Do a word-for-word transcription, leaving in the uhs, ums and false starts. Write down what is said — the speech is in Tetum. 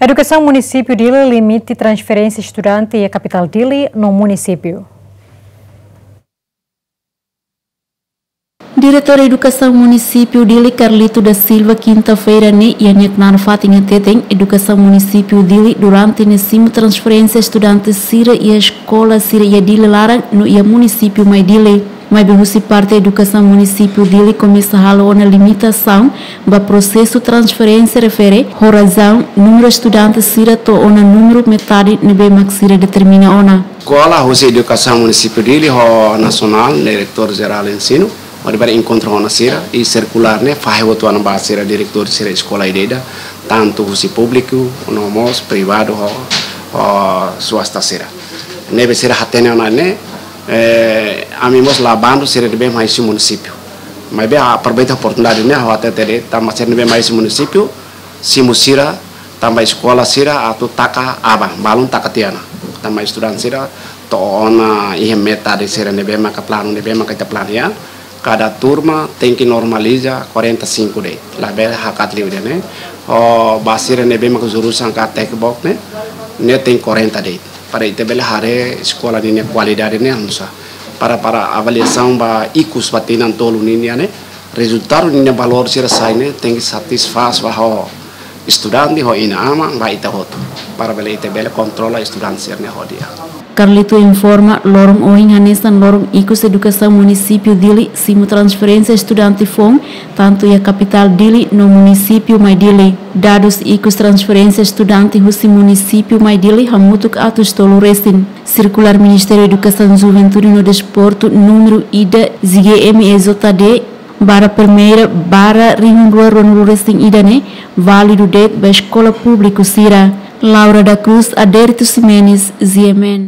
Edukasaun Munisípiu Dili limita transferénsia estudante iha kapitál Dili no munisípiu. Diretór Edukasaun Munisípiu Dili, Carlito da Silva, kinta-feira ne'e iha nia knaar fatin hateten, Edukasaun Munisípiu Dili durante ne'e simu transferénsia estudante sira iha eskola sira iha Dili laran no iha munisípiu mai Dili. Maibé husi parte Edukasaun Munisípiu Dili komesa halo ona limitasaun ba prosesu transferénsia refere ho razaun númeru estudante sira to'o ona númeru metade ne'ebé mak sira determina ona. Eskola husi Edukasaun Munisípiu Dili ho Nasionál, Diretór Jerál Ensinu, hodi bele enkontru ona sira, i sirkulár ne'e fahe hotu ona ba sira diretór sira eskola ida-idak, tantu husi públiku, no mós privadu ho, ho swasta sira. Ne'ebé sira hatene ona ne'e, eh, ami mós la bandu sira ne'ebé mai husi munisípiu. Maibé aproveita oportunidade ne'e, ha'u hatete de'it, tanba sira ne'ebé mai husi munisípiu, simu sira, tanba eskola sira atu taka aban, balun taka tiha ona. Tanba estudante sira to'o ona iha metade sira ne'ebé maka planu, ne'ebé maka ita planu iha. Kada turma tenke normaliza quarenta e cinco de'it. Labele hakat liu de'it ne'e. Ho ba sira ne'ebé maka jurusan ka tekbok ne'e, ne'e tenke quarenta de'it. Para ita bele haree eskola ninia kualidade ne'e oinsá. Para, para avaliasaun ba ikus ba tinan tolu ninia ne'e, rezultadu ninia valór sira sai ne'e tenke satisfás ba ho estudante, ho inan-aman, ba ita hotu. Para bele ita bele kontrola estudante sira-ne'e ho di'ak. Carlito informa, loron ohin hanesan loron ikus Edukasaun Munisípiu Dili simu transferénsia estudante foun, tantu iha kapitál Dili no munisípiu mai Dili. Dadus ikus transferénsia estudante husi munisípiu mai Dili hamutuk atus tolu resin. Sirkulár Ministériu Edukasaun, Juventude no Desportu númeru ida, Z G M E J D, barra primeira, barra rihun rua ruanulu resin ida ne'e válidu de'it ba eskola públiku sira. Laura da Cruz, Adérito Ximenes, G M N.